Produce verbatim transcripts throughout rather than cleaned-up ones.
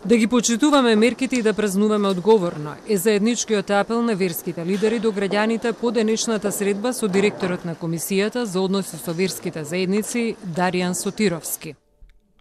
Да ги почитуваме мерките и да празнуваме одговорно е заедничкиот апел на верските лидери до граѓаните по денешната средба со директорот на Комисијата за односи со верските заедници Даријан Сотировски.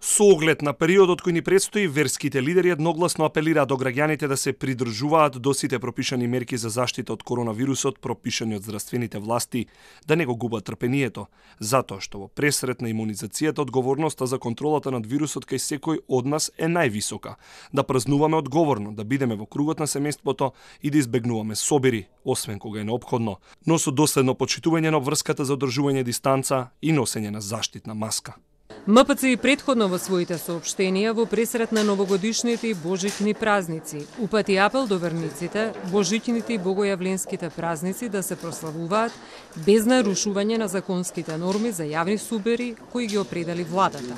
Со оглед на периодот кој ни предстои, верските лидери едногласно апелираат до граѓаните да се придржуваат до сите пропишани мерки за заштита од коронавирусот, пропишани од здравствените власти, да не го губат трпението, затоа што во пресрет на имунизацијата одговорноста за контролата над вирусот кај секој од нас е највисока. Да празнуваме одговорно, да бидеме во кругот на семејството и да избегнуваме собири, освен кога е неопходно, но со доследно почитување на обврската за одржување дистанца и носење на заштитна маска. МПЦ и претходно во своите соопштенија во пресрет на новогодишните и божични празници упати апел до верниците, божичните и богојавленските празници да се прославуваат без нарушување на законските норми за јавни собири кои ги определи владата.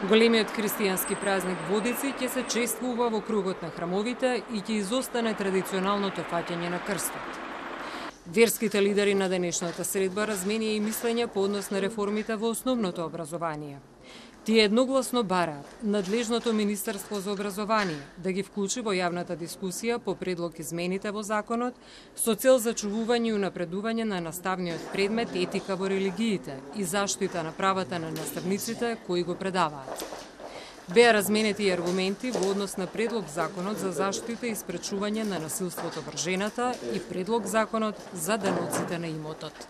Големиот христијански празник Водици ќе се чествува во кругот на храмовите и ќе изостане традиционалното фаќање на крстот. Верските лидери на денешната средба разменија и мислење по однос на реформите во основното образование. Тие едногласно бараат надлежното Министерство за образование да ги вклучи во јавната дискусија по предлог измените во законот со цел зачувување и унапредување на наставниот предмет етика во религиите и заштита на правата на наставниците кои го предаваат. Беа разменети и аргументи во однос на предлог законот за заштита и спречување на насилството врз жената и предлог законот за даноците на имотот.